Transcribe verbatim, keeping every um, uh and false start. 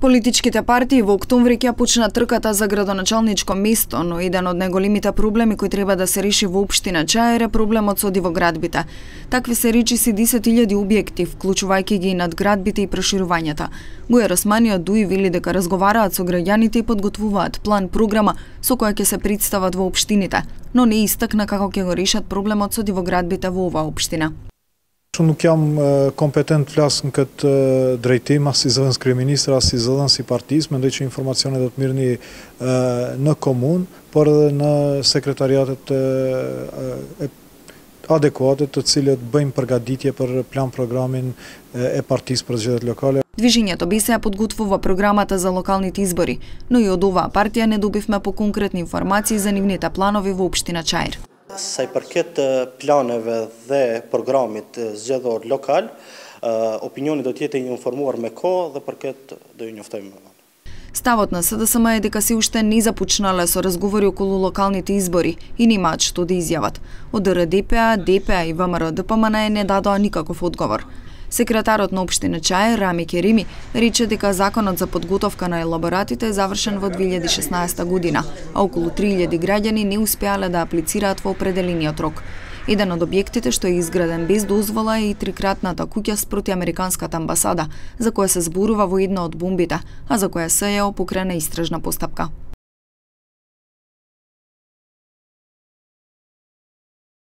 Политичките партии во октомври ќе почнат трката за градоначалничко место, но еден од најголемите проблеми кои треба да се реши во општина Чаир е проблемот со дивоградбите. Такви се речиси десет илјади објекти, вклучувајќи ги и надградбите и проширувањата. Бујар Османи од ДУИ вели дека разговараат со граѓаните и подготвуваат план програма со која ќе се представат во општините, но не истакна како ќе го решат проблемот со дивоградбите во оваа општина. Unë nuk jam kompetent flas në këtë drejtim, as si zëdhënës kryeministër, as si zëdhënës i partisë, mendoj që informacionet do të mirëni në komunë, por edhe në sekretariatet adekuate të cilët bëjmë përgatitje për plan programin e partisë për zgjedhjet lokale. Движењето БеСА подготвува програмата за локалните избори, но и од оваа партија не добивме по конкретни информации за нивните планови во општина Чаир. Sa i përket planeve dhe programit zgjedhor lokal, opinioni do të jetë i informuar me kohë dhe për këtë do ju njoftojmë më vonë. Ставот на СДСМ е дека се уште не започнале со разговори околу локалните избори и немаат што да изјават. Од РДП, ДП и ВМРО ДПМН не дадоа никаков одговор. Секретарот на општина Чаир, Рами Керими, рече дека законот за подготовка на елаборатите е завршен во две илјади и шеснаесета година, а околу три илјади граѓани не успеале да аплицираат во определениот рок. Еден од објектите што е изграден без дозвола е и трикратната куќа спроти Американската амбасада, за која се зборува во една од бомбите, а за која СЈО покрена истражна постапка.